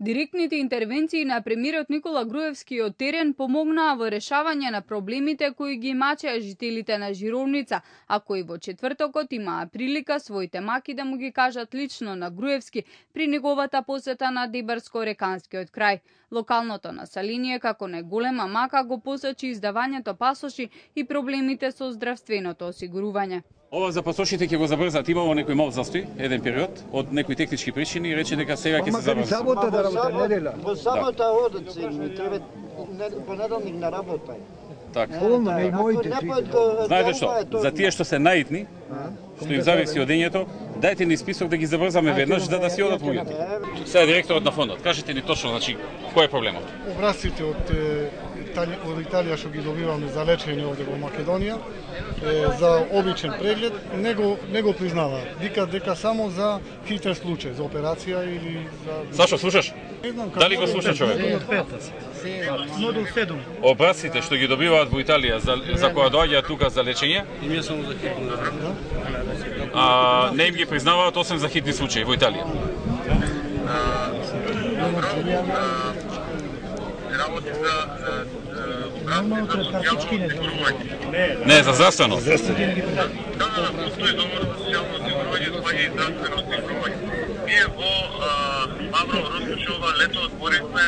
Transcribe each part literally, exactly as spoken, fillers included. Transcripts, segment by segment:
Директните интервенции на премиерот Никола Груевски од терен помогнаа во решавање на проблемите кои ги мачеа жителите на Жировница, а кои во четвртокот имаа прилика своите маки да му ги кажат лично на Груевски при неговата посета на Дибарско-реканскиот крај. Локалното население како најголема мака го посочи издавањето пасоши и проблемите со здравственото осигурување. Ова за пасошите ќе го забрзат, имало некој мал застој, еден период, од некои технички причини и рече дека сега ќе се забрзат. Сабота да работа неделя. Во сабота одат се, ми треба понеделник на работа. Така. Полно не моите. Знаете што, за тие што се наитни, што им зависи од дењето, дајте ни список да ги забрзаме веднаш за да си одат луѓето. Сега директорот на фондот, кажете ни точно, значи, кој е проблемот? Образците од од Италија што ги добиваме за лечење овде во Македонија, за обичен преглед, не го, не го признаваат. Викаат дека само за хитер случај, за операција или за... Сашо, слушаш? Дали го слуша човек? Модул седум. Образците што ги добиваат во Италија за, за која доаѓаат тука за лечење, а не им ги признаваат освен за хитни случаи во Италија. Не, за здравствено. Да, да, постои договор за социјално осигурување, спаѓа и здравствено осигурување. Ние во Мавро Росушова лето отворивме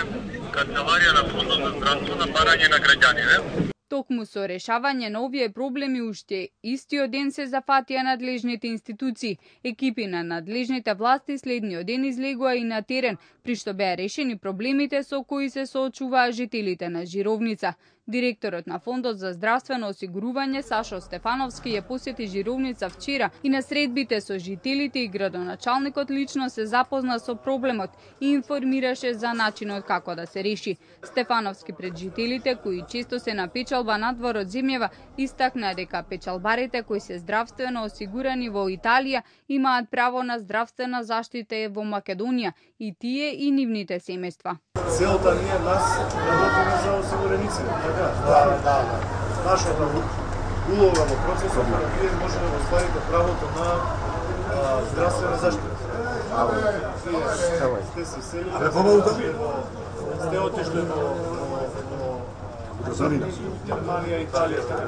канцеларија на Фондот за здравствено барање на граѓани. Токму со решавање на овие проблеми уште истиот ден се зафатија надлежните институции. Екипи на надлежните власти следниот ден излегоа и на терен, при што беа решени проблемите со кои се соочуваа жителите на Жировница. Директорот на Фондот за здравствено осигурување Сашо Стефановски ја посети Жировница вчера и на средбите со жителите и градоначалникот лично се запозна со проблемот и информираше за начинот како да се реши. Стефановски пред жителите кои често се на печалба надвор од земјава истакна дека печалбарите кои се здравствено осигурани во Италија имаат право на здравствена заштита во Македонија и тие и нивните семејства. Целта ние нас работиме за осигуреници, така? Да, да, да. Нашата улога во процесот е да вие може да остварите правото на а, здравствена заштита. Вие сте се сели, сте отишли во Германија, Италија, така?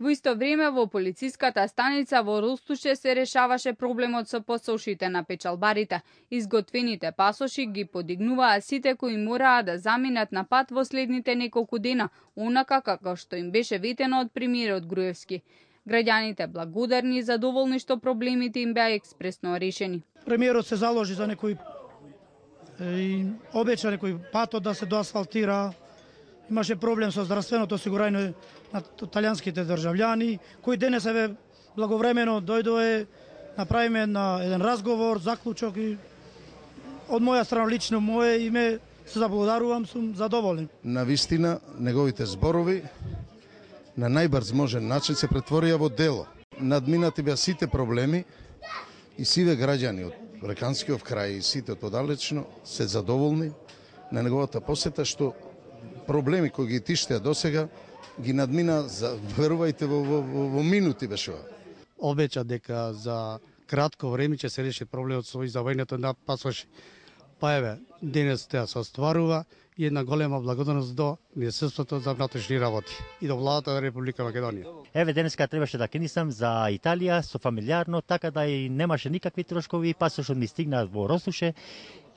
Во исто време во полициската станица во Ростуше се решаваше проблемот со пасошите на печалбарите. Изготвените пасоши ги подигнуваа сите кои мораа да заминат на пат во следните неколку дена, онака како што им беше ветено од премиерот Груевски. Граѓаните благодарни и задоволни што проблемите им беа експресно решени. Премиерот се заложи за некој и обеча некој патот да се доасфалтира. Имаше проблем со здравственото осигурање на италијанските државјани, кој денес еве благовремено дојдоe, направиме на еден разговор, заклучок и од моја страна лично мое име се заблагодарувам, сум задоволен. На вистина неговите зборови на најбрз можен начин се претворија во дело. Надминати беа сите проблеми и сиве граѓани од Реканскиот крај и сите подалечно се задоволни на неговата посета што проблеми кои ги тиштеа досега ги надмина, за, верувајте, во, во, во, во минути беше. Обеча дека за кратко време ќе се реши проблемот со издавањето на пасоши. Па еве, денес тоа се остварува и една голема благодарност до Министерството за внатрешни работи и до владата на Република Македонија. Еве денеска требаше да кенисам за Италија со фамилиарно, така да и немаше никакви трошкови, пасошот ми стигна во Росуше.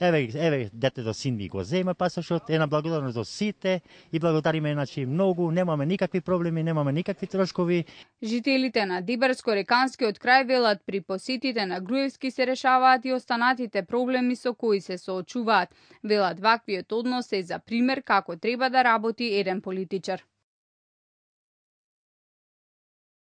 Еве, еве, детето син ми го зема пасошот, една благодарност до сите и благодариме значи многу, немаме никакви проблеми, немаме никакви трошкови. Жителите на Дибарско-реканскиот крај велат при посетите на Груевски се решаваат и останатите проблеми со кои се соочуваат. Велат ваквиот однос е за пример како треба да работи еден политичар.